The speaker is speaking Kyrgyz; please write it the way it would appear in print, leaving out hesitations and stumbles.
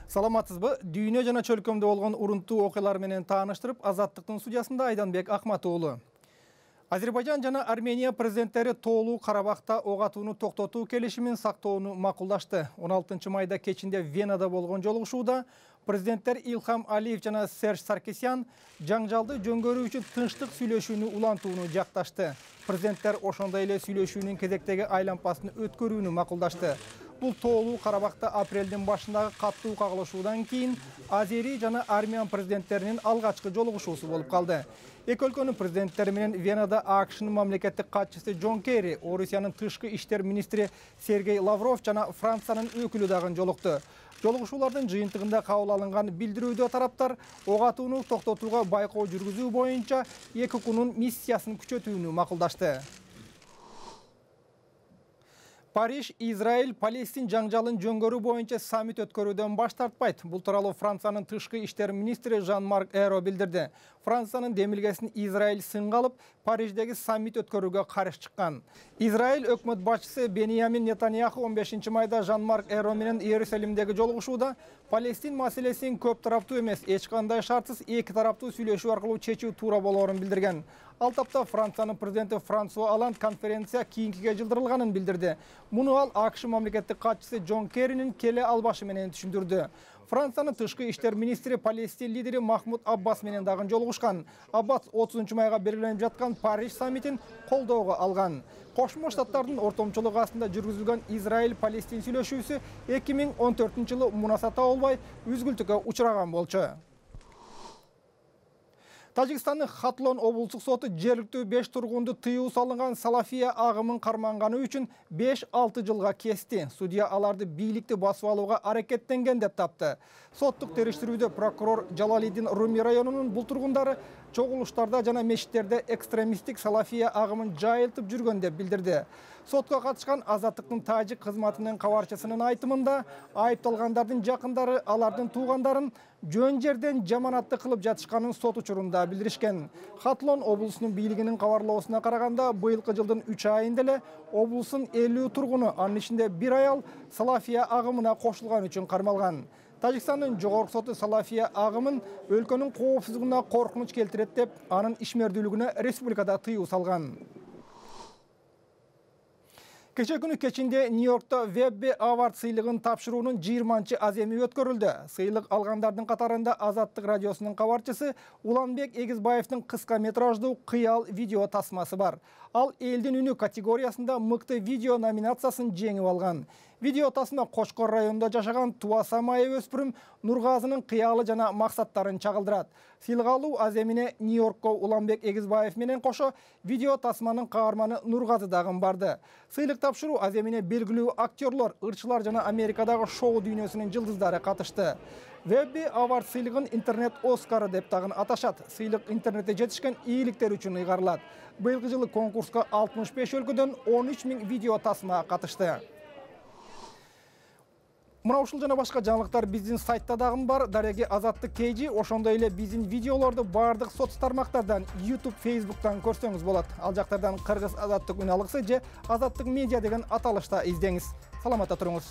Саламатсызбы? Дүйнө жана чөлкөмдө болгон урунтуу окуялар менен тааныштырып, Азаттыктын студиясында Айданбек Акматуулу. Азербайжан жана Армения президенттери тоолуу Карабахта ок атууну токтотуу келишимин сактоону макулдашты. 16 майда кечинде Венада болгон жолугушууда президенттер Илхам Алиев жана Серж Саркисян жаңжалды жөнгөрүү үчүн тынчтык сүйлөшүүнү улантууну жакташты. Президенттер ошондой эле сүйлөшүүнүн кезектеги айлампасын өткөрүүнү макулдашты. Бул тоолуу Карабахта апрелдин башындагы каттуу кагылышуудан кийин Азери жана Армян президенттеринин алгачкы жолугушуусу болуп калды. Эки өлкөнүн президенттери менен Венада АКШнын мамлекеттик катчысы Джон Керри, Орусиянын тышкы иштер министри Сергей Лавров жана Франциянын өкүлү дагы жолукту. Жолугушуулардын жыйынтыгында кабыл алынган билдирүүдө тараптар ок атууну токтотууга байкоо жүргүзүү боюнча эки күнүн миссиясын күчөтүүнү макулдашты. Париж, Израиль, Палестин жаңжалын жөнгөрүү боюнча саммит өткөрүүдөн баш тартпайт. Бул тууралуу Франциянын тышкы иштер министри Жан-Марк Эро билдирди. Франциянын демилгесин Израиль сынга алып, Париждеги саммит өткөрүүгө каршы чыккан. Израиль өкмөт башчысы Беньямин Нетаньяху 15 майда Жан-Марк Эро менен Иерусалимдеги жолугушууда Палестин маселесин көп тараптуу эмес, эч кандай шартсыз эки тараптуу сүйлөшүү аркылуу чечүү туура болоорун билдирген. Ал тапта Франциянын президенти Франсуа Олланд конференция кийинкиге жылдырылганын билдирди. Муну ал АКШ мамлекеттик катчысы Джон Керринин келе албашы менен түшүндүрдү. Франциянын тышкы иштер министри Палестин лидери Махмуд Аббас менен дагы жолугушкан. Аббас 30 майга белгиленип жаткан Париж саммитин колдоого алган. Кошмо Штаттардын ортомчулугу астында жүргүзүлгөн Израиль-Палестин сүйлөшүүсү 2014-жылы мунасата болбой үзгүлтүккө учураган болчу. Тажикстандын Хатлон облустук соту жергиликтүү 5 тургунду тыюу салынган салафия агымын карманганы үчүн 5-6 жылга кести. Судья аларды бийликти басып алууга аракеттенген деп тапты. Соттук териштирүүдө прокурор Жалалиддин Руми районунун бул тургундары чогулуштарда жана мечиттерде экстремисттик салафия агымын жайылтып жүргөн деп билдирди. Сотко катышкан Азаттыктын тажик кызматынын кабарчысынын айтымында, айыпталгандардын жакындары алардын туугандарын жөн жерден жаманатты кылып жатышканын сот учурунда билдиришкен. Хатлон облусунун бийлигинин кабарлоосуна караганда, быйылкы жылдын 3 айында эле облустун 50 тургуну, анын ичинде 1 аял салафия агымына кошулган үчүн кармалган. Тажикстандын жогорку соту салафия агымын өлкөнүн коопсуздугуна коркунуч келтирет деп, анын ишмердүүлүгүнө республикада тыюу салган. Кече күнү кечинде Нью-Йоркто Webby Award сыйлыгын тапшыруунун 20-чы аземи өткөрүлдү. Сыйлык алгандардын катарында Азаттык радиосунун кабарчысы Уланбек Эгизбаевдин кыска метраждуу кыял видео тасмасы бар. Ал элдин үнү категориясында мыкты видео номинациясын жеңип алган. Видео тасма Кочкор районунда жашаган Туаса майы өспүрүм Нургазынын кыялы жана максаттарын чагылдырат. Сыйлык алуу аземине Нью-Йоркко Уланбек Эгизбаев менен кошо видео тасманын каарманы Нургазы дагы барды. Сыйлык тапшыруу аземине белгилүү актерлор, ырчылар жана Америкадагы шоу дүйнөсүнүн жылдыздары катышты. Webby Award сыйлыгын интернет Оскары деп дагы аташат. Сыйлык интернетте жетишкен ийгиликтер үчүн ыйгарылат. Быйылкы жылы конкурска 65 өлкөдөн 13 000 видео тасма катышты. Мына ушул жана башка жаңылыктар биздин сайтта дагы бар. Дареги Азаттык KG, ошондой эле биздин видеолорду бардык соц тармактардан, YouTube, Facebooktан көрсөңүз болот. Ал жактардан Кыргыз Азаттык үн алгысы же Азаттык медиа деген аталышта издеңиз. Саламатта туруңуз.